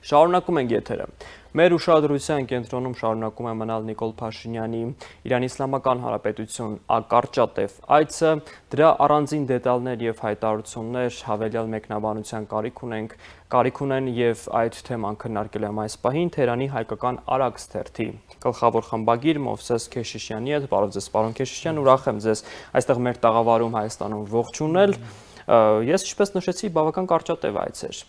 Շարունակում ենք եթերը։ Մեր ուշադրության կենտրոնում շարունակում է մնալ Նիկոլ Փաշինյանի Իրանի Իսլամական Հանրապետություն կարճատև այցը, դրա առանձին դետալներ եւ հայտարարություններ հավելյալ մեկնաբանության կարիք ունեն եւ այդ թեման քննարկել եմ այս պահին Թերանի հայկական Արաքս թերթի գլխավոր խմբագիր Մովսես Քեշիշյանի հետ։ Բարև ձեզ, պարոն Քեշիշյան, ուրախ եմ ձեզ այստեղ մեր տաղավարում Հայաստանում ողջունել։ Ես ինչպես նշեցի, բավական կարճատև այց էր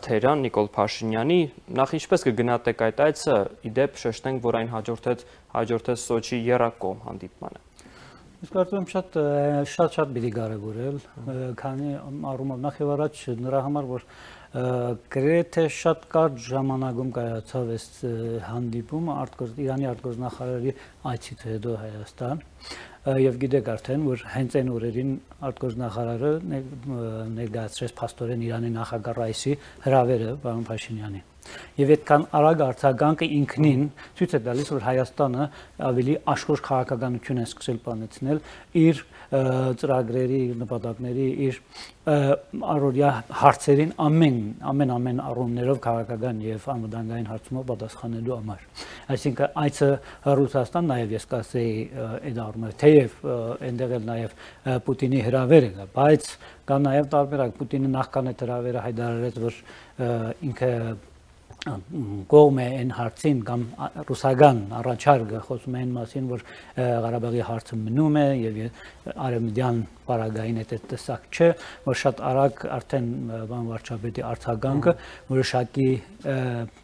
Թերան Նիկոլ Փաշինյանի, նախ ինչպես կգնահատեք այդ այցը, իդեպ շեշտենք, որ այն հաջորդեց Սոչի եռակողմ հանդիպմանը։ Ես կարծում եմ շատ պիտի կարևորել, քանի առումով նախ եւ առաջ նրա համար, որ գրեթե շատ կարճ ժամանակում կայացավ այս հանդիպումը Իրանի արտգործնախարարի այցից հետո Հայաստան, եւ գիտեք արդեն, որ հենց այն օրերին արտգործնախարարը ներկայացրեց փաստորեն Իրանի նախագահ Ռայիսի հրավերը պարոն Փաշինյանին։ Եվ այդքան արագ արձագանքը ինքնին ցույց է տալիս, որ Հայաստանը ավելի աշխույժ քաղաքականություն է սկսել բանեցնել իր ծրագրերի, նպատակների, իր առօրյա հարցերին ամեն առումներով քաղաքական եւ անվտանգային հարցումով պատասխանելու համար։ Այսինքն այցը Ռուսաստան նաեւ ես կասեի այդ առումով, թեև այնտեղ էլ նաեւ Պուտինի հրավերը կա, բայց կա նաեւ տարբերակ։ Պուտինը նախքան այդ հրավերը հայտարարեց, որ ինքը կողմ է այն հարցին կամ ռուսական առաջարկը խոսում է այն մասին, որ Ղարաբաղի հարցը մնում է եւ արևմտյան պարագային այդ տեսակ չէ, որ շատ արագ արդեն բան վարչապետի արձագանքը որոշակի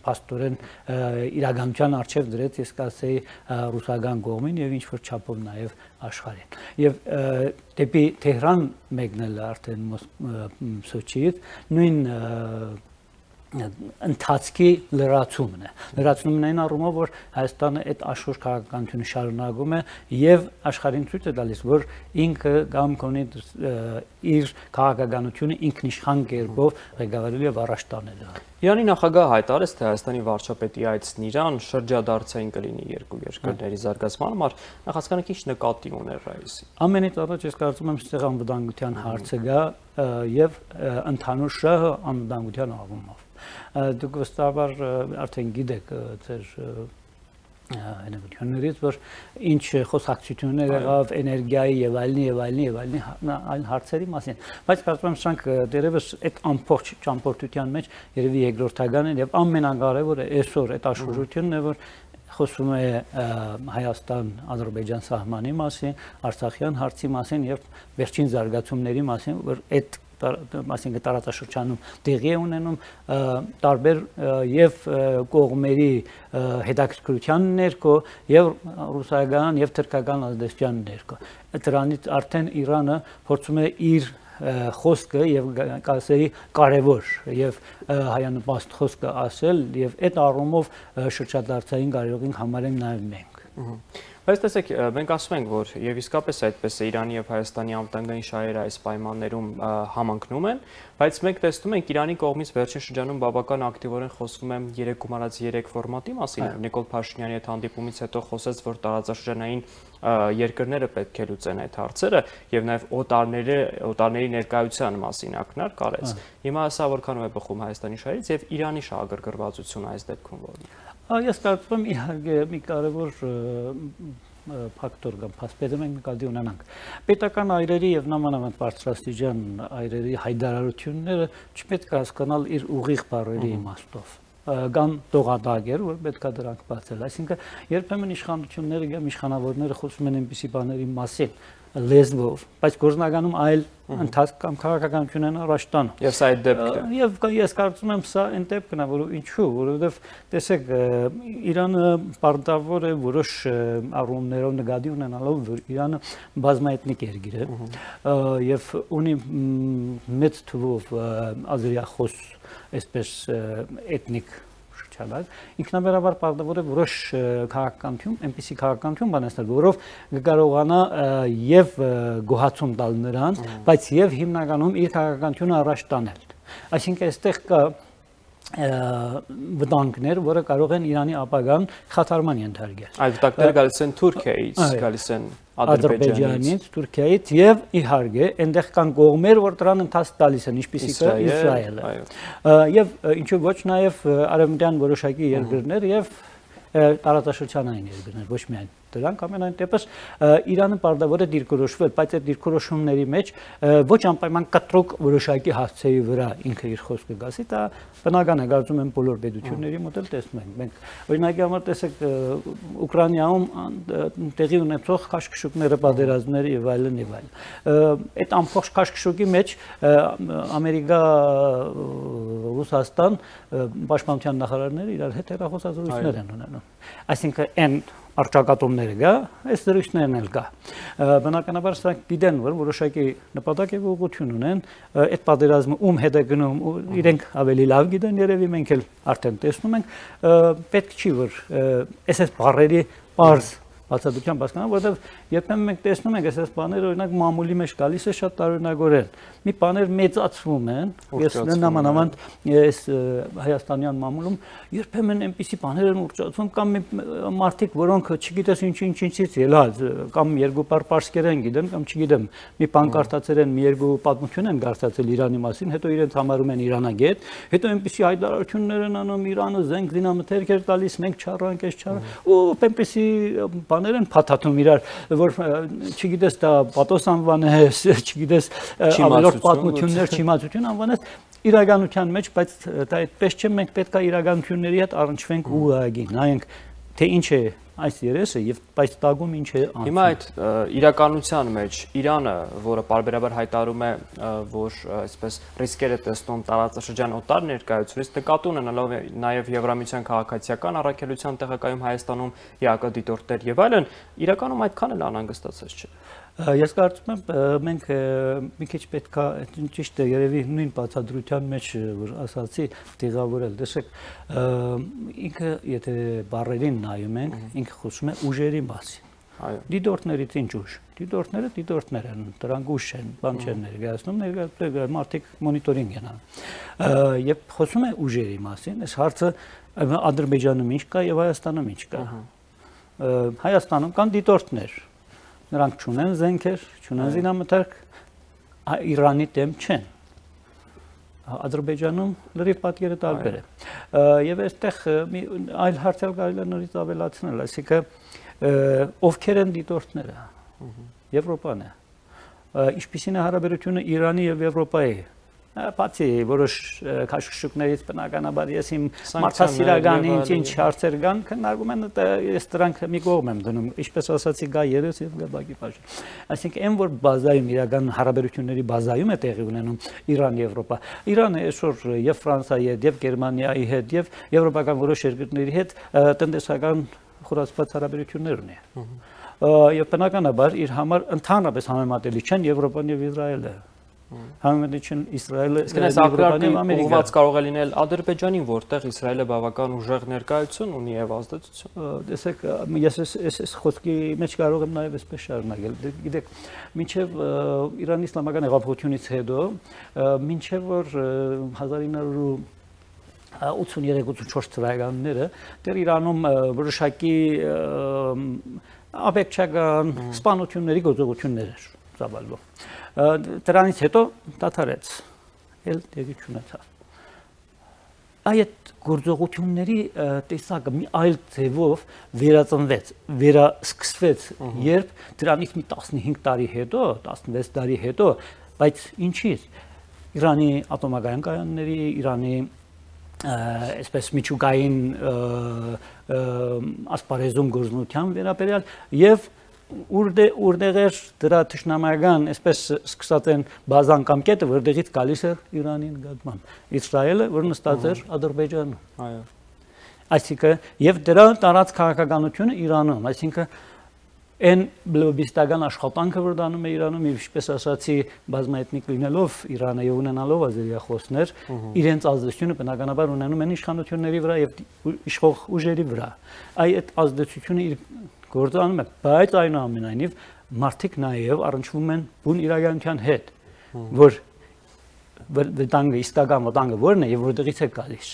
փաստորեն իրականության արժեվ դրեց, ես կասեի ռուսական կողմին եւ ինչ որ չափով նաեւ աշխարհին։ Եւ դեպի Թեհրան մեկնել արդեն Սոչիից նույն ընթացքի լրացումն է։ Լրացումն այն առումով, որ Հայաստանը այդ աշխույժ քաղաքականությունը շարունակում է եւ աշխարհին ցույց է տալիս, որ ինքը կամ կոնի իր քաղաքականությունը ինքնիշխան կերպով ղեկավարելու եւ առաջ տանելու։ Իրանի նախագահը հայտարարեց, թե Հայաստանի վարչապետի այցն Իրան շրջադարձային կլինի երկու երկրների զարգացման համար, նախ հասկանանք ինչ նկատի ուներ Ռայիսի։ Ամենից առաջ ես կարծում եմ ստեղ անվտանգության հարցը գա եւ ընդհանուր շահը անվտանգության առումով։ Դուք վստահաբար արդեն գիտեք ձեր հնարավորություններից, որ ինչ խոսակցություններ եղավ էներգիայի եւ այլ հարցերի մասին, բայց կարծում եմ սրանք դերևս այդ ամբողջ ճամփորդության մեջ երևի երկրորդական են եւ ամենակարևորը այսօր այդ աշխուժությունն է, որ խոսում է Հայաստան-Ադրբեջան սահմանի մասին, Արցախյան հարցի մասին եւ վերջին զարգացումների մասին, որ այդ այսինքն տարածաշրջանում տեղի է ունենում տարբեր եւ կողմերի հետաքրքրության ներքո եւ ռուսական եւ թուրքական ազդեցության ներքո։ Դրանից արդեն Իրանը փորձում է իր խոսքը եւ կասեի կարեւոր եւ հայանպաստ խոսքը ասել եւ այդ առումով շրջադարձային կարողին համարենք նաեւ մենք։ Բայց տեսեք, մենք ասում ենք, որ եւ իսկապես այդպես է Իրանի եւ Հայաստանի անվտանգային շահերը այս պայմաններում համընկնում են, բայց մենք տեսնում ենք Իրանի կողմից վերջին շրջանում բավական ակտիվորեն խոսվում է 3+3 ֆորմատի մասին։ Նիկոլ Փաշինյանի հետ հանդիպումից հետո խոսեց, որ տարածաշրջանային երկրները պետք է լուծեն այդ հարցերը եւ նաեւ օտարների ներկայության մասին ակնարկ արեց։ Հիմա սա որքանով է բխում Հայաստանի շահերից եւ Իրանի շահագրգռվածությունը այս դեպքում որն է։ Ես կարծում եմ իհարկե մի կարևոր ֆակտոր կամ փաստեր մենք նկատի ունենանք։ Պետական այրերի եւ նամանավանդ բարձրաստիճան այրերի հայտարարությունները չպետք է հասկանալ իր ուղիղ բառերի իմաստով կամ տողատագեր, որ պետք է դրանք բացել։ Այսինքն երբեմն իշխանությունները կամ իշխանավորները խոսում են այնպիսի բաների մասին լեզվով, բայց գործնականում այլ ընթացք կամ քաղաքականություն են առաջ տանում։ Եվ սա այդ դեպքն է։ Եվ ես կարծում եմ սա այն դեպքն է, որ ինչու, որովհետև տեսեք, Իրանը պարտավոր է որոշ առումներով նկատի ունենալով, որ Իրանը բազմաէթնիկ երկիր է եւ ունի մեծ թվով ազերիախոս, այսպես էթնիկ ինքնաբերաբար պարտավոր է որոշ քաղաքականություն, այնպիսի քաղաքականություն բանացնել, որով կկարողանա եւ գոհացում տալ նրան, բայց եւ հիմնականում իր քաղաքականությունը առաջ տանել։ Այսինքն այստեղ կա վտանգներ, որը կարող են Իրանի ապագան խաթարման ենթարկել։ Այդ վտանգները գալիս են Թուրքիայից, գալիս են Ադրբեջանից, Թուրքիայից եւ իհարկե այնտեղ կան կողմեր, որ դրան ընթաց տալիս են, ինչպիսի կա Իսրայելը։ Եվ ինչու ոչ նաեւ արևմտյան որոշակի երկրներ եւ տարածաշրջանային երկրներ, ոչ միայն դրանք ամենայն դեպս Իրանը պարտավոր է դիրքորոշվել, բայց այդ դիրքորոշումների մեջ ոչ անպայման կտրուկ որոշակի հասցեի վրա ինքը իր խոսքը գասի, դա բնական է, կարծում եմ բոլոր պետությունների մոտ էլ տեսնում ենք։ Մենք օրինակի համար տեսեք Ուկրաինայում տեղի ունեցող քաշքշուկները, պատերազմները եւ այլն եւ այլն։ Այդ ամբողջ քաշքշուկի մեջ Ամերիկա, Ռուսաստան պաշտպանության նախարարները իրար հետ հեռախոսազրույցներ են ունենում։ Այսինքն այն արճակատումները գա, այս դրույթներն էլ գա։ Բնականաբար սրանք գիտեն, որ որոշակի նպատակ եւ ուղղություն ունեն, այդ պատերազմը ում հետ է գնում, իրենք ավելի լավ գիտեն, երևի մենք էլ արդեն տեսնում ենք, պետք չի որ այս բառերի բարձ բացատրությամբ հասկանան, որովհետև երբեմն մենք տեսնում ենք այս բաները օրինակ մամուլի մեջ գալիս է շատ տարօրինակորեն։ Մի բաներ մեծացվում են, ես նամանավանդ այս հայաստանյան մամուլում երբեմն այնպիսի բաներ են ուռճացվում կամ մարդիկ, որոնք չգիտես ինչից ելած, կամ երկու բառ պարսկերեն գիտեն, կամ չգիտեմ, մի բան կարդացել են, մի երկու պատմություն են կարդացել Իրանի մասին, հետո իրենց համարում են իրանագետ, հետո այնպիսի հայտարարություններ են անում Իրանը զենք զինամթերք էր տալիս, մենք չառանք, այս չառանք, ու այնպիսի բաներ են փաթաթում իրար, որ չգիտես դա պատոս անվանես, չգիտես ավելորդ պատմություններ, չիմացություն անվանես իրականության մեջ, բայց դա այդպես չէ, մենք պետք է իրականությունների հետ առնչվենք ու նայենք, թե ինչ է այս երեսը եւ բայց տագում ինչ է անցնում։ Հիմա այդ իրականության մեջ Իրանը, որը պարբերաբար հայտարարում է, որ այսպես ռիսկեր է տեսնում տարածաշրջան օտար ներկայությունից, նկատի ունենալով նաեւ Եվրամիության քաղաքացիական առաքելության տեղակայում Հայաստանում ԵԱԿ դիտորդներ եւ այլն, իրականում այդքան էլ անհանգստացած չէ։ Ես կարծում եմ մենք մի քիչ պետք է ճիշտ է երևի նույն բացատրության մեջ որ ասացի տեղավորել տեսեք ինքը եթե բառերին նայում ենք ինքը խոսում է ուժերի մասին այո դիտորդներից ինչ ուժ դիտորդներ են դրանք ուժ են բան չեն ներկայացնում մարդիկ մոնիտորինգ են անում եւ խոսում է ուժերի մասին այս հարցը Ադրբեջանում ինչ կա եւ Հայաստանում ինչ կա Հայաստանում կան դիտորդներ Նրանք չունեն զենքեր, չունեն զինամթերք, Իրանի դեմ չեն։ Ադրբեջանում լրիվ պատկերը տարբեր է։ Եվ այստեղ այլ հարցեր կարելի է նորից ավելացնել, այսինքն ովքեր են դիտորդները։ Եվրոպան է։ Ինչպիսին է հարաբերությունը Իրանի եւ Եվրոպայի։ Բացի որոշ քաշքշուկներից բնականաբար ես իմ մարդասիրական ինչ հարցեր կան, քննարկում են ես դրանք մի կողմ եմ դնում, ինչպես ասացի գա երես եւ գա բակի բաժին։ Այսինքն այն որ բազայում իրական հարաբերությունների բազայում է տեղի ունենում Իրան-Եվրոպա։ Իրանը այսօր եւ Ֆրանսիայի հետ եւ Գերմանիայի հետ եւ եվրոպական որոշ երկրների հետ տնտեսական խորացված հարաբերություններ ունի։ Եվ բնականաբար իր համար ընդհանրապես համեմատելի չեն Եվրոպան եւ Իսրայելը։ Համեմատություն Իսրայելը Եվրոպան եւ Ամերիկան ուղղված կարող է լինել Ադրբեջանին, որտեղ Իսրայելը բավական ուժեղ ներկայություն ունի եւ ազդեցություն։ Տեսեք, ես խոսքի մեջ կարող եմ նաեւ այսպես շարունակել։ Գիտեք, մինչեւ Իրանի իսլամական հեղափոխությունից հետո, մինչեւ որ 1983-84 թվականները դեռ Իրանում որոշակի ապեքչական սպանությունների գործողություններ էր ծավալվում։ Դրանից հետո դադարեց, էլ տեղի չունեցավ։ Այդ գործողությունների տեսակը մի այլ ձևով վերածնվեց, վերասկսվեց, երբ դրանից մի 15 տարի հետո, 16 տարի հետո, բայց ինչի՞ց Իրանի ատոմական կայանների, Իրանի այսպես միջուկային ասպարեզում գործունեության վերաբերյալ եւ Ուրդեղ էր դրա թշնամական, այսպես սկսած են բազան կամ կետը, որտեղից գալիս էր Իրանի նկատմամբ։ Իսրայելը, որ նստած էր Ադրբեջանում։ Այո։ Այսինքն եւ դրա տարած քաղաքականությունը Իրանում, այսինքն այն լոբիստական աշխատանքը, որ դանում է Իրանում, ինչպես ասացի, բազմաէթնիկ լինելով Իրանը եւ ունենալով ազերիախոսներ, իրենց ազդեցությունը բնականաբար ունենում են իշխանությունների վրա եւ իշխող ուժերի վրա։ Այդ ազդեցությունը իր գործանում է, բայց այնուամենայնիվ մարդիկ նաև առնչվում են բուն իրականության հետ, որ վտանգը, իսկական վտանգը որն է եւ որտեղից է գալիս։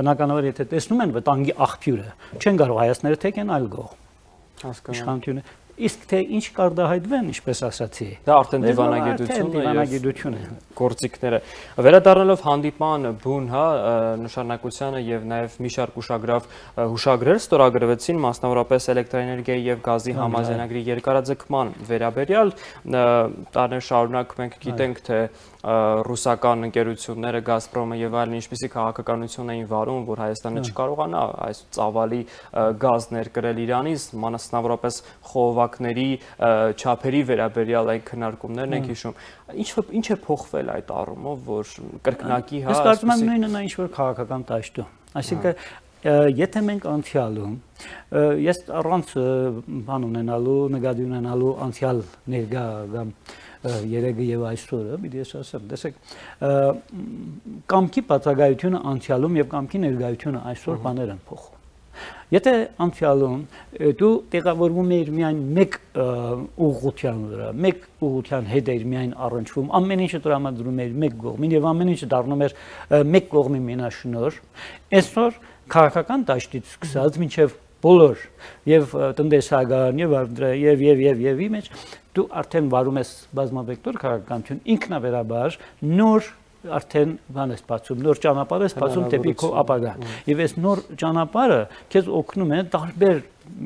Բնականաբար եթե տեսնում են վտանգի աղբյուրը, չեն կարող հայացները թեքեն այլ կողմ։ Իշխանությունը իսկ թե ինչ կարգահայտվեն, ինչպես ասացի։ Դա արդեն դիվանագիտությունը եւ գործիքները։ Վերադառնալով հանդիպման բուն, հա, նշանակությանը եւ նաեւ մի շարք հուշագրեր ստորագրվեցին, մասնավորապես էլեկտրաէներգիայի եւ գազի համաձայնագրի երկարաձգման վերաբերյալ, տարիներ շարունակ մենք գիտենք, թե ռուսական ընկերությունները Գազպրոմը եւ այլն ինչպիսի քաղաքականություն էին վարում, որ Հայաստանը չկարողանա այս ծավալի գազ ներկրել Իրանից, մասնավորապես խողովակների չափերի վերաբերյալ այն քննարկումներն ենք հիշում։ Ինչ է փոխվել այդ առումով, որ կրկնակի հա։ Ես կարծում եմ նույնը նա ինչ որ քաղաքական տաշտում։ Այսինքն եթե մենք անցյալում ես առանց բան ունենալու, նկատի ունենալու անցյալ ներկա կամ երեգը եւ այսօրը, պիտի ես ասեմ, տեսեք, կամքի բացակայությունը անցյալում եւ կամքի ներկայությունը այսօր բաներ են փոխում։ Եթե անցյալում դու տեղավորվում ես միայն մեկ ուղղության վրա, մեկ ուղղության հետ ես միայն առնչվում, ամեն ինչը տրամադրում ես մեկ կողմին եւ ամեն ինչը դառնում է մեկ կողմի մենաշնոր, այսօր քաղաքական դաշտից սկսած մինչեւ բոլոր եւ տնտեսական եւ մեջ դու արդեն վարում ես բազմավեկտոր քաղաքականություն ինքնաբերաբար նոր արդեն բան ես բացում նոր ճանապարհ ես բացում դեպի քո ապագան եւ այս նոր ճանապարհը քեզ օգնում է տարբեր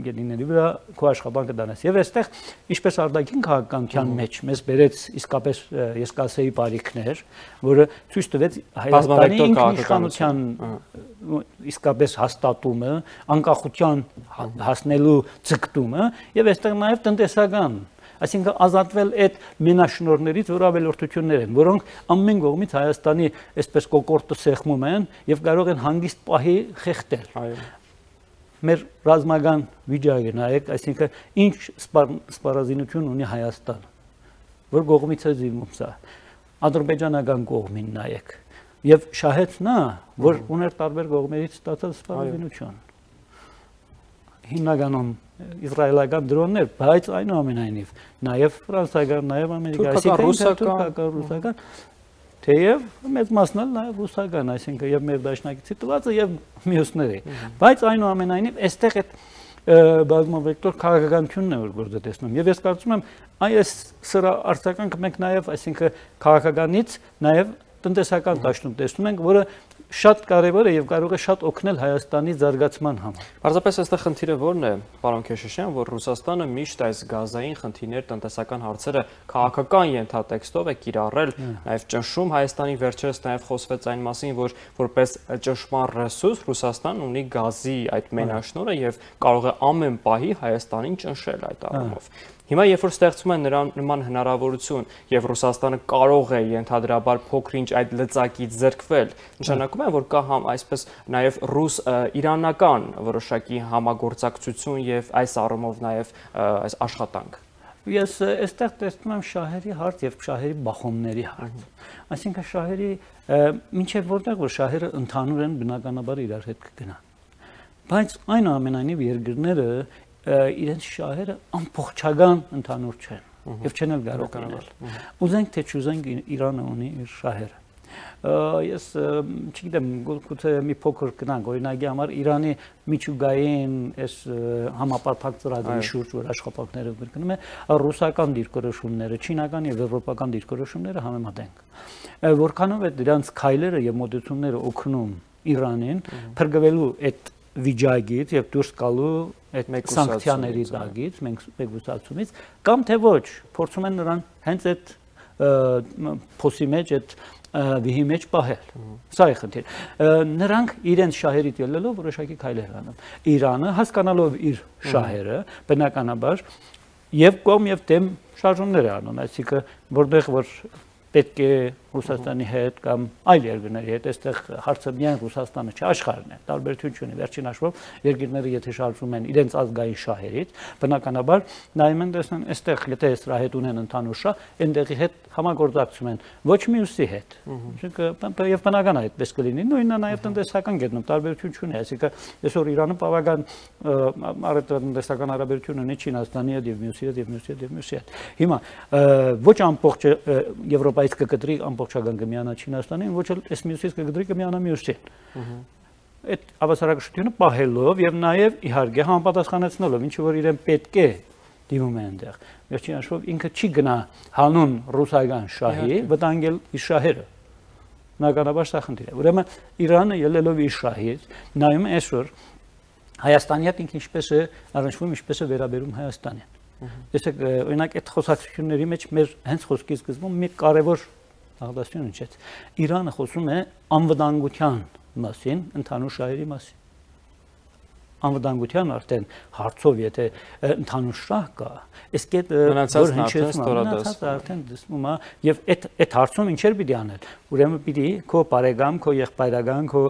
գետինների վրա քո աշխատանքը դանես եւ այստեղ ինչպես արտաքին քաղաքականության մեջ մեզ բերեց իսկապես ես կասեի բարիքներ որը ցույց տվեց Հայաստանի ինքնիշխանության իսկապես հաստատումը անկախության հասնելու ցկտումը եւ այստեղ նաեւ տնտեսական այսինքն ազատվել այդ մենաշնորներից, որ ավելորդություններ են, որոնք ամեն կողմից Հայաստանի այսպես կոկորտը սեղմում են եւ կարող են հանգիստ պահի խեղդել։ Այո։ Մեր ռազմական վիճակը նայեք, այսինքն ինչ սպառազինություն ունի Հայաստանը, որ կողմից է զինվում սա։ Ադրբեջանական կողմին նայեք։ Եվ շահեց նա, որ ուներ տարբեր կողմերից ստացած սպառազինություն։ Հիմնականում իսրայելական դրոններ, բայց այնուամենայնիվ նաև ֆրանսիական, նաև ամերիկական, ռուսական, թեև մեծ մասն էլ նաև ռուսական, այսինքն եւ մեր դաշնակիցի տվածը եւ մյուսները։ Բայց այնուամենայնիվ այստեղ այդ բազմավեկտոր քաղաքականությունն է որ գործը տեսնում։ Եվ ես կարծում եմ այս սրա արտականքը մենք նաև, այսինքն քաղաքականից նաև տնտեսական դաշտում տեսնում ենք, որը շատ կարևոր է եւ կարող է շատ օգնել Հայաստանի զարգացման համար։ Պարզապես այստեղ խնդիրը ո՞րն է, պարոն Քեշիշյան, որ Ռուսաստանը միշտ այս գազային խնդիրներ, տնտեսական հարցերը քաղաքական ենթատեքստով է կիրառել, նաեւ ճնշում Հայաստանի վերջերս նաեւ խոսվեց այն մասին, որ որպես ճնշման ռեսուրս Ռուսաստանն ունի գազի այդ մենաշնորհը եւ կարող է ամեն պահի Հայաստանին ճնշել այդ առումով։ Հիմա երբ որ ստեղծում են նման հնարավորություն եւ Ռուսաստանը կարող է ենթադրաբար փոքր-ինչ այդ լծակից զրկվել, նշանակում է որ կա այսպես նաեւ ռուս-իրանական որոշակի համագործակցություն եւ այս առումով նաեւ այս աշխատանք։ Ես այստեղ տեսնում եմ շահերի հարց եւ շահերի բախումների հարց։ Այսինքն շահերի մինչեւ որտեղ որ շահերը ընդհանուր են բնականաբար իրար հետ կգնան։ Բայց այնուամենայնիվ երկրները իրենց շահերը ամբողջական ընդհանուր չեն եւ չեն էլ կարող լինել։ Ուզենք թե չուզենք Իրանը ունի իր շահերը։ Ես չգիտեմ գուցե մի փոքր գնանք օրինակի համար Իրանի միջուկային այս համապարփակ ծրագրի շուրջ որ աշխատանքները կրկնում է ռուսական դիրքորոշումները, չինական եւ եվրոպական դիրքորոշումները համեմատենք։ Որքանով է դրանց քայլերը եւ մոտեցումները օգնում Իրանին փրկվելու այդ վիճակից եւ դուրս գալու այդ սանկցիաների տակից, մեկուսացումից, կամ թե ոչ, փորձում են նրան հենց այդ փոսի մեջ, այդ վիհի մեջ պահել։ Սա է խնդիրը։ Նրանք իրենց շահերից ելնելով որոշակի քայլեր անում։ Իրանը հասկանալով իր շահերը, բնականաբար եւ կողմ եւ դեմ շարժումներ է անում, այսինքն որտեղ որ պետք է Ռուսաստանի հետ կամ այլ երկրների հետ, այստեղ հարցը միայն Ռուսաստանը չէ, աշխարհն է, տարբերություն չունի, վերջին հաշվով երկրները եթե շարժվում են իրենց ազգային շահերից, բնականաբար նայում են տեսնում, այստեղ եթե սրա հետ ունեն ընդհանուր շահ, այնտեղի հետ համագործակցում են, ոչ մյուսի հետ։ Այսինքն եւ բնական է այդպես կլինի, նույնն է նաեւ տնտեսական գետնում, տարբերություն չունի, այսինքն այսօր Իրանը բավական տնտեսական հարաբերություն ունի Չինաստանի հետ եւ մյուսի հետ եւ մյուսի հետ եւ մյուսի հետ։ Հիմա ոչ ամբողջ Եվրոպայից կկտրի ամբողջ ամբողջական կմիանա Չինաստանին, ոչ էլ այս մյուսից կգդրի կմիանա մյուսին։ Այդ հավասարակշռությունը պահելով եւ նաեւ իհարկե համապատասխանեցնելով, ինչ որ իրեն պետք է դիմում է այնտեղ։ Վերջին հաշվով ինքը չի գնա հանուն ռուսական շահի վտանգել իր շահերը։ Բնականաբար սա խնդիր է։ Ուրեմն Իրանը ելելով իր շահից նայում է այսօր Հայաստանի հետ ինքը ինչպես է առնչվում, ինչպես է վերաբերում Հայաստանին։ Տեսեք, օրինակ այդ խոսակցությունների մեջ մեր հենց խոսքի սկզբում մի կարևոր աղդասություն ունեցեց։ Իրանը խոսում է անվտանգության մասին, ընդհանուր շահերի մասին։ Անվտանգության արդեն հարցով, եթե ընդհանուր շահ կա, իսկ այդ որ հնչեցնում արդեն դասում է եւ այդ հարցում ինչեր պիտի անել։ Ուրեմն պիտի քո բարեկամ, քո եղբայրական, քո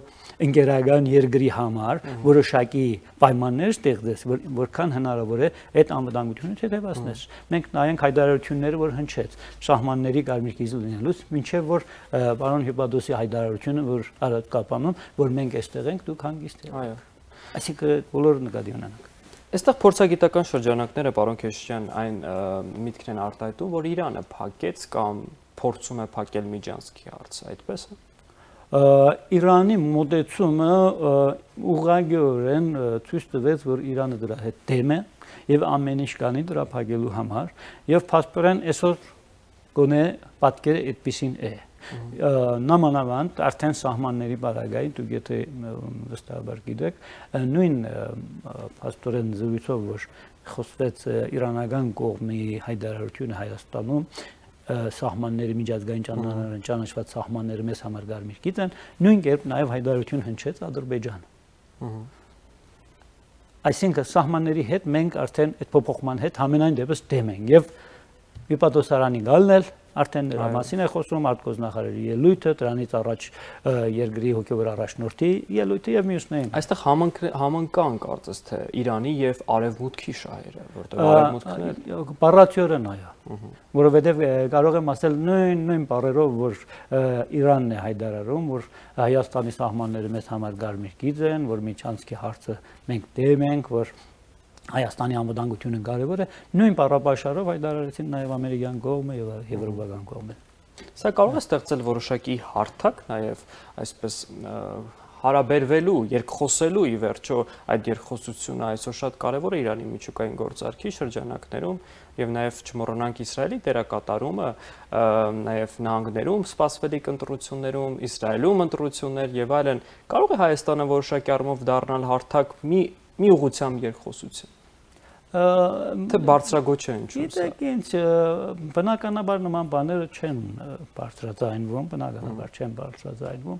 ընկերական երկրի համար որոշակի պայմաններ ստեղծես, որքան հնարավոր է այդ անվտանգությունը հետևացնես։ Մենք նայենք հայտարարությունները, որ հնչեց սահմանների կարմիր կիզը լինելուց, մինչև որ պարոն Հիպատոսի հայտարարությունը, որ Արադ կապանում, որ մենք այստեղ ենք, դուք հանգիստ եք։ Այո։ Այսինքն բոլորը նկատի ունենանք։ Այստեղ փորձագիտական շրջանակները, պարոն Քեշյան, այն միտքն են արտահայտում, որ Իրանը փակեց կամ փորձում է փակել Միջանցքի հարցը, այդպես է։ Իրանի մոտեցումը ուղղակիորեն ցույց տվեց, որ Իրանը դրա հետ դեմ է եւ ամեն ինչ կանի դրա փակելու համար եւ փաստորեն այսօր գոնե պատկերը այդպեսին է։ Նամանավանդ արդեն սահմանների բարագային, դուք եթե վստահաբար գիտեք, նույն փաստորեն զրույցով, որ խոսվեց իրանական կողմի հայտարարությունը Հայաստանում, սահմանների միջազգային ճանաչված սահմանները մեզ համար կարմիր գիծ են, նույն կերպ նաև հայտարարություն հնչեց Ադրբեջանը։ Այսինքն սահմանների հետ մենք արդեն այդ փոփոխման հետ համենայն դեպս դեմ ենք եւ Հիպատոսարանի գալն էլ արդեն նրա մասին է խոսում արտգործնախարարի ելույթը, դրանից առաջ երկրի հոգևոր առաջնորդի ելույթը եւ մյուսներին։ Այստեղ համընկան կարծես թե Իրանի եւ Արևմուտքի շահերը, որտեղ Արևմուտքն է բառացիորեն այո, որովհետեւ կարող եմ ասել նույն բառերով, որ Իրանն է հայտարարում, որ Հայաստանի սահմանները մեզ համար կարմիր գիծ են, որ Միջանցքի հարցը մենք դեմ ենք, որ Հայաստանի անվտանգությունը կարևոր է, նույն բառապաշարով հայտարարեցին նաև ամերիկյան կողմը եւ եվրոպական կողմը։ Սա կարող է ստեղծել որոշակի հարթակ նաև այսպես հարաբերվելու, երկխոսելու ի վերջո այդ երկխոսությունը այսօր շատ կարևոր է Իրանի միջուկային գործարքի շրջանակներում եւ նաև չմոռանանք Իսրայելի դերակատարումը նաև նահանգներում սպասվելիք ընտրություններում, Իսրայելում ընտրություններ եւ այլն։ Կարող է Հայաստանը որոշակի առումով դառնալ հարթակ մի ուղղությամբ երկխոսություն։ Թե բարձրագոչ է ինչու՞։ Գիտեք ինչ, բնականաբար նման բաները չեն բարձրաձայնվում, բնականաբար չեն բարձրաձայնվում։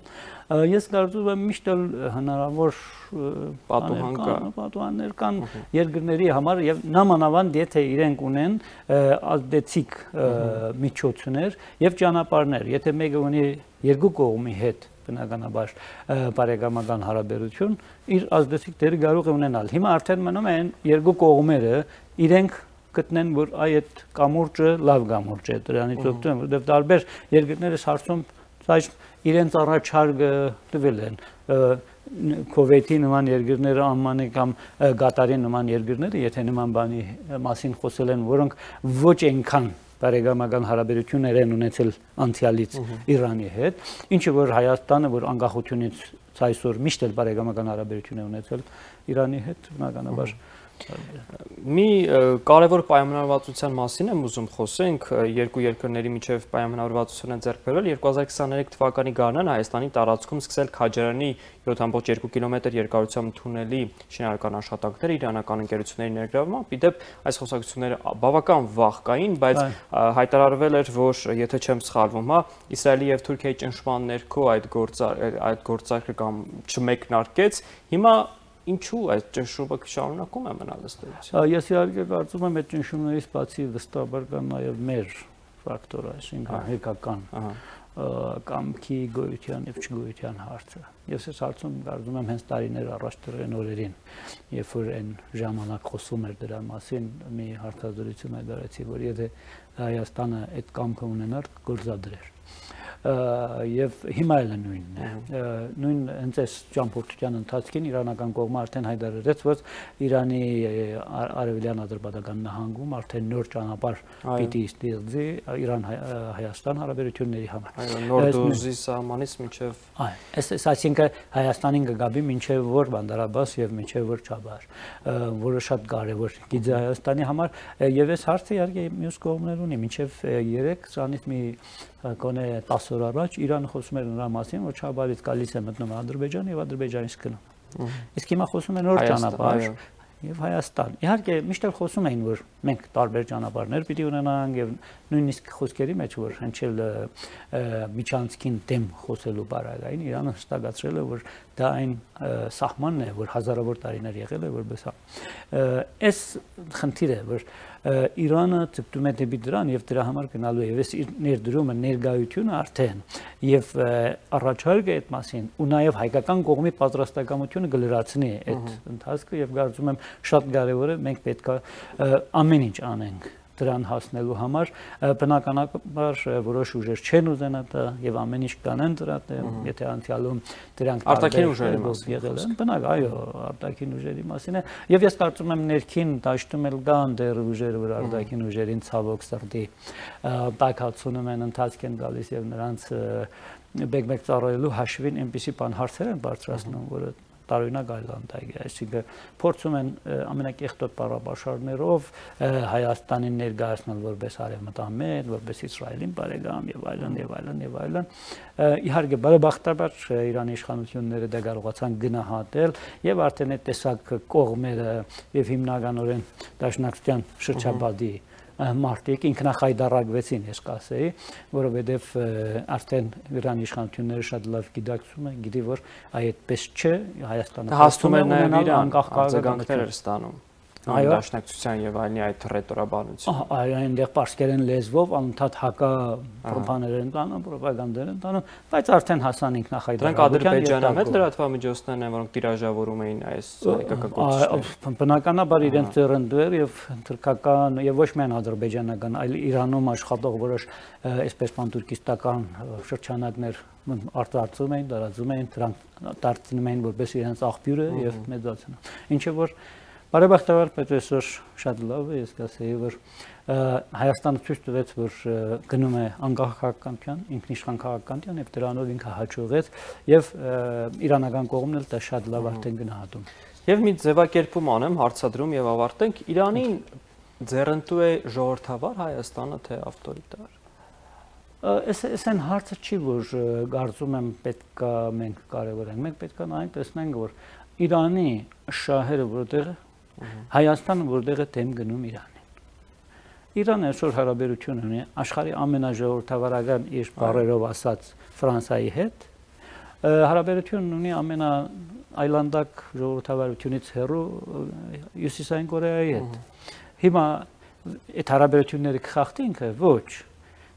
Ես կարծում եմ միշտ էլ հնարավոր պատուհաններ կան երկրների համար եւ նամանավանդ եթե իրենք ունեն ազդեցիկ միջոցներ եւ ճանապարհներ, եթե մեկը ունի երկու կողմի հետ բնականաբար բարեկամական հարաբերություն իր ազդեցիկ դերը կարող է ունենալ։ Հիմա արդեն մնում են երկու կողմերը իրենք գտնեն, որ այդ կամուրջը լավ կամուրջ է, դրանից օգտվում, որովհետև տարբեր երկրներս հարցում իրենց առաջարկը տվել են Քուվեյթի նման երկրները, Ամմանի կամ Կատարի նման երկրները, եթե նման բանի մասին խոսել են, որոնք ոչ այնքան բարեկամական հարաբերություններ են ունեցել անցյալից Իրանի հետ, ինչը որ Հայաստանը, որ անկախությունից այսօր միշտ էլ բարեկամական հարաբերություն է ունեցել Իրանի հետ, բնականաբար Մի կարևոր պայմանավորվածության մասին եմ ուզում խոսենք, երկու երկրների միջև պայմանավորվածություն է ձեռք բերվել 2023 թվականի գարնան Հայաստանի տարածքում սկսել Քաջարյանի 7.2 կիլոմետր երկարությամբ թունելի շինարարական աշխատանքները իրանական ընկերությունների ներգրավմամբ, իդեպ այս խոսակցությունները բավական վաղ կային, բայց հայտարարվել էր, որ եթե չեմ սխալվում, Իսրայելի եւ Թուրքիայի ճնշման ներքո այդ գործարքը կամ չմեկնարկեց, հիմա Ինչու այդ ճնշումը շարունակում է մնալ ըստ էության։ Ես իհարկե կարծում եմ այդ ճնշումներից բացի վստահաբար կան նաև մեր ֆակտոր, այսինքն հերկական կամքի գոյության եւ չգոյության հարցը։ Ես այս հարցում կարծում եմ հենց տարիներ առաջ դրեն օրերին, երբ որ այն ժամանակ խոսում էր դրա մասին, մի հարցազրույցում հայտարարեցի, որ եթե Հայաստանը այդ կամքը ունենար, գործադրեր։ եւ հիմա էլ նույնն է նույն հենց այս ճամփորդության ընթացքին իրանական կողմը արդեն հայտարարեց որ Իրանի արևելյան Ադրբեջան նահանգում արդեն նոր ճանապարհ պիտի ստեղծի Իրան-Հայաստան հարաբերությունների համար նոր դոզի սահմանից մինչեւ այս այսինքն Հայաստանին կգաբի մինչեւ որ Բանդարաբաս եւ մինչեւ որ Չաբահար որը շատ կարեւոր գիծ Հայաստանի համար եւ այս հարցը իհարկե մյուս կողմներ ունի մինչեւ 3 սրանից մի կոնե 10 օր առաջ Իրանը խոսում էր նրա մասին որ Չաբահարից գալիս է մտնում Ադրբեջան եւ Ադրբեջանից գնում իսկ հիմա խոսում են նոր ճանապարհ եւ Հայաստան իհարկե միշտ խոսում էին որ մենք տարբեր ճանապարհներ պիտի ունենանք եւ նույնիսկ խոսքերի մեջ որ հնչել միջանցքին դեմ խոսելու բարագային Իրանը հստակացրել է որ դա այն սահմանն է որ հազարավոր տարիներ եղել է որպես այս խնդիրը որ Իրանը ցկտում է դեպի դրան եւ դրա համար գնալու է եւ այս ներդրումը ներգայությունը արդեն եւ առաջարկը այդ մասին ու նաեւ հայկական կողմի պատրաստակամությունը կլրացնի այդ ընթացքը եւ կարծում եմ շատ կարեւոր է մենք պետք է ամեն ինչ անենք դրան հասնելու համար բնականաբար որոշ ուժեր չեն ուզենա դա եւ ամեն ինչ կանեն դրա եթե անցյալում դրանք արտաքին ուժերի մասին եղել են բնակ այո արտաքին ուժերի մասին է եւ ես կարծում եմ ներքին դաշտում էլ կան դեռ ուժեր որ արտաքին ուժերին ցավոք սրտի բակացնում են ընթացք են գալիս եւ նրանց բեկ-բեկ ծառայելու հաշվին այնպիսի բան հարցեր են բարձրացնում որը տարօրինակ այլանդակ է, այսինքն փորձում են ամենակեղտոտ բառապաշարներով Հայաստանին ներկայացնել որպես արևմտամետ, որպես Իսրայելին բարեկամ եւ այլն եւ այլն եւ այլն։ Իհարկե բարեբախտաբար Իրանի իշխանությունները դա կարողացան գնահատել եւ արդեն այդ տեսակ կողմերը եւ հիմնականորեն Դաշնակցության շրջապատի մարդիկ ինքնախայտարարվեցին, ես կասեի, որովհետև արդեն Իրանի իշխանությունները շատ լավ գիտակցում են, գիտի որ այդպես չէ, Հայաստանը հասնում է նաև անկախ արձագանքներ ստանում։ Այո, դաշնակցության եւ այլնի այդ ռետորաբանություն։ Այո, այնտեղ պարսկերեն լեզվով անընդհատ հակա պրոպագանդներ են տանում, պրոպագանդներ են տանում, բայց արդեն հասան ինքնախայտարարության։ Դրանք ադրբեջանամետ լրատվամիջոցներն են, որոնք տիրաժավորում էին այս հայկական բնականաբար իրենց ծերնդեր եւ թուրքական եւ ոչ միայն ադրբեջանական, այլ Իրանում աշխատող որոշ այսպես պանտուրկիստական շրջանակներ արտարծում էին, տարածում էին, դրանք դարձնում էին որպես իրենց աղբյուրը եւ մեծացնում։ Ինչը որ բարեբախտաբար պետք է այսօր շատ լավ է, ես կասեի, որ Հայաստանը ցույց տվեց, որ գնում է անկախ քաղաքականության, ինքնիշխան քաղաքականության եւ դրանով ինքը հաջողեց եւ իրանական կողմն էլ դա շատ լավ արդեն գնահատում։ Եվ մի ձևակերպում անեմ, հարցադրում եւ ավարտենք, Իրանին ձեռնտու է ժողովրդավար Հայաստանը թե ավտորիտար։ Այս այն հարցը չի, որ կարծում եմ պետք է մենք կարևորենք, մենք պետք է նայենք տեսնենք, որ Իրանի շահերը որտեղ Հայաստանը որտեղ է դեմ գնում Իրանին։ Իրանը այսօր հարաբերություն ունի աշխարհի ամենաժողովրդավարական իր բառերով ասած Ֆրանսիայի հետ, հարաբերություն ունի ամենաայլանդակ ժողովրդավարությունից հեռու Հյուսիսային Կորեայի հետ։ Հիմա այդ հարաբերությունները կխախտի ինքը ոչ։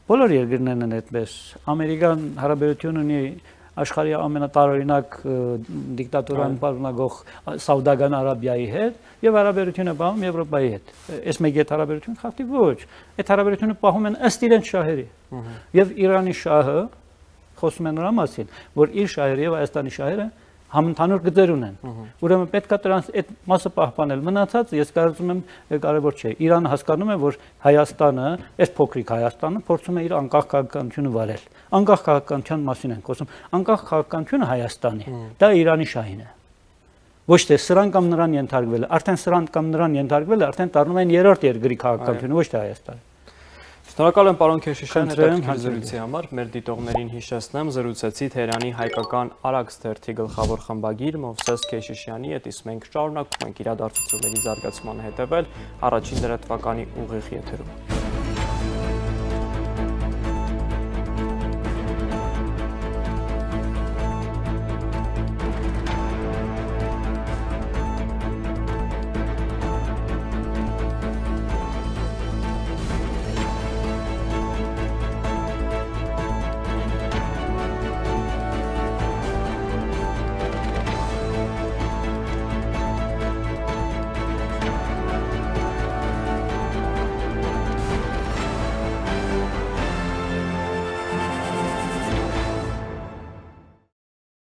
Բոլոր երկրներն են այդպես։ Ամերիկան հարաբերություն ունի աշխարհի ամենատարօրինակ դիկտատորան պարունակող Սաուդական Արաբիայի հետ եւ հարաբերությունը պահում Եվրոպայի հետ։ Այս մեկ այդ հարաբերությունը խախտի ոչ։ Այդ հարաբերությունը պահում են ըստ իրենց շահերի։ Եվ Իրանի շահը խոսում են նրա մասին, որ իր շահերը եւ Հայաստանի շահերը համընդհանուր գծեր ունեն։ Ուրեմն պետք է դրանց այդ մասը պահպանել։ Մնացածը ես կարծում եմ կարևոր չէ։ Իրանը հասկանում է, որ Հայաստանը, այս փոքրիկ Հայաստանը փորձում է իր անկախ քաղաքականությունը վարել։ Անկախ քաղաքականության մասին ենք խոսում։ Անկախ քաղաքականությունը Հայաստանի, դա Իրանի շահին է։ Ոչ թե սրան կամ նրան ենթարկվել է, արդեն սրան կամ նրան ենթարկվել է, արդեն դառնում են երրորդ երկրի քաղաքականությունը, ոչ թե Հայաստանը։ Շնորհակալ եմ պարոն Քեշիշյան հետաքրքիր զրույցի համար։ Մեր դիտողներին հիշեցնեմ, զրուցեցի Թեհրանի հայկական Արաքս թերթի գլխավոր խմբագիր Մովսես Քեշիշյանի հետ, իսկ մենք շարունակում ենք իրադարձությունների զարգացմանը հետևել առաջին լրատվականի ուղիղ եթերում։